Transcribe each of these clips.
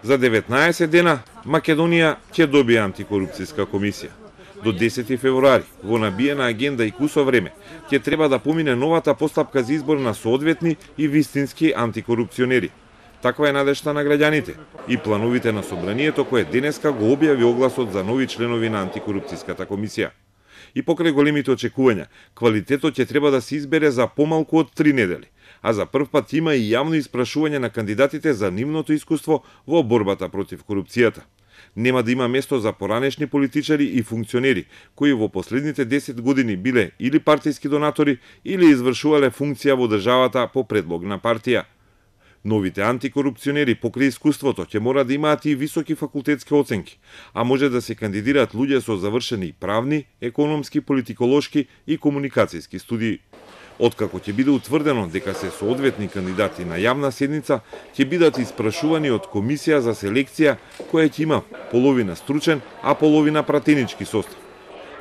За 19 дена Македонија ќе добие антикорупцијска комисија. До 10 февруари, во набиена агенда и кусо време, ќе треба да помине новата постапка за избор на соодветни и вистински антикорупционери. Таква е надежта на граѓаните и плановите на собранието кое денеска го објави огласот за нови членови на антикорупцијската комисија. И покрај големите очекувања, квалитетот ќе треба да се избере за помалку од 3 недели, а за прв пат има и јавно испрашување на кандидатите за нивното искуство во борбата против корупцијата. Нема да има место за поранешни политичари и функционери, кои во последните 10 години биле или партиски донатори, или извршувале функција во државата по предлог на партија. Новите антикорупционери покрај искуството ќе мора да имаат и високи факултетски оценки, а може да се кандидираат луѓе со завршени правни, економски, политиколошки и комуникацијски студии. Откако ќе биде утврдено дека се соодветни кандидати на јавна седница, ќе бидат испрашувани од комисија за селекција која ќе има половина стручен, а половина пратенички состав.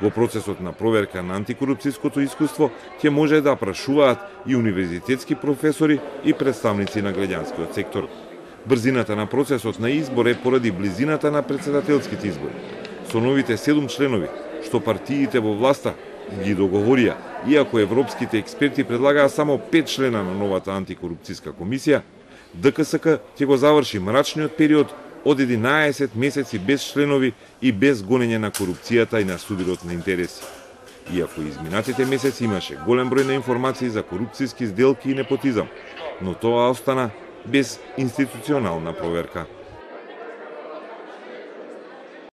Во процесот на проверка на антикорупцијското искуство ќе може да прашуваат и универзитетски професори и представници на граѓанскиот сектор. Брзината на процесот на избор е поради близината на претседателските избори. Со новите 7 членови, што партиите во власта ги договорија, иако европските експерти предлагаа само 5 члена на новата антикорупцијска комисија, ДКСК ќе го заврши мрачниот период од 11 месеци без членови и без гонење на корупцијата и на судирот на интереси. Иако изминатите месеци имаше голем број на информации за корупцијски сделки и непотизам, но тоа остана без институционална проверка.